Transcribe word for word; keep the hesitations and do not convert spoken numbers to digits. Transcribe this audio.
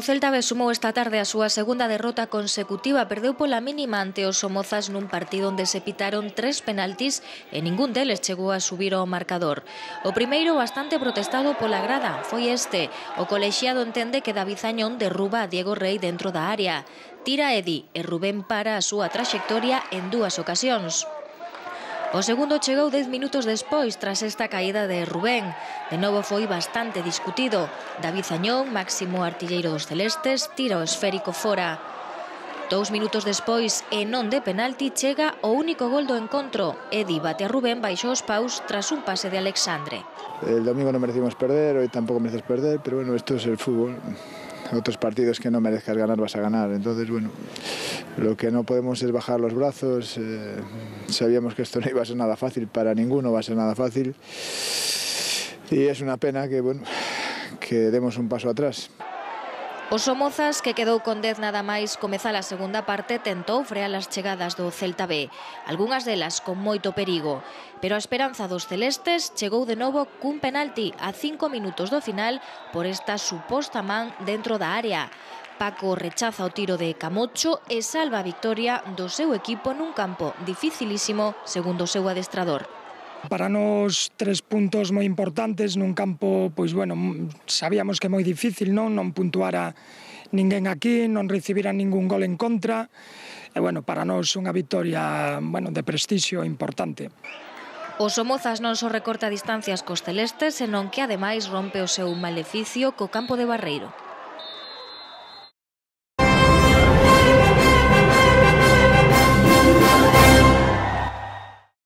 Celta B sumou esta tarde a súa segunda derrota consecutiva, perdeu pola mínima ante os Somozas nun partido onde se pitaron tres penaltis e ningún deles chegou a subir ao marcador. O primeiro, bastante protestado pola grada, foi este. O colexiado entende que David Añón derruba a Diego Rey dentro da área. Tira Edi e Rubén para a súa traxectoria en dúas ocasións. O segundo chegou dez minutos despois, tras esta caída de Rubén. De novo foi bastante discutido. David Añón, máximo artilleiro dos celestes, tira o esférico fora. Dous minutos despois, e non de penalti, chega o único gol do encontro. Edi bate a Rubén baixo os paus tras un pase de Alexandre. El domingo non merecimos perder, hoy tampouco mereces perder, pero bueno, esto es el fútbol. Otros partidos que no merezcas ganar vas a ganar, entonces bueno, lo que no podemos es bajar los brazos. eh, sabíamos que esto no iba a ser nada fácil, para ninguno va a ser nada fácil y es una pena que, bueno, que demos un paso atrás. Os Somozas, que quedou con dez nada máis comezar a segunda parte, tentou frear as chegadas do Celta B, algunhas delas con moito perigo, pero a esperanza dos celestes chegou de novo cun penalti a cinco minutos do final por esta suposta man dentro da área. Paco rechaza o tiro de Camocho e salva a victoria do seu equipo nun campo dificilísimo, segundo o seu adestrador. Para nós tres puntos moi importantes nun campo, pois bueno, sabíamos que é moi difícil, non non puntuara ninguén aquí, non recibira ningún gol en contra, e bueno, para nós unha victoria, bueno, de prestixio importante. Os Somozas non só recorta distancias cos celestes, senón que ademais rompe o seu maleficio co campo de Barreiro.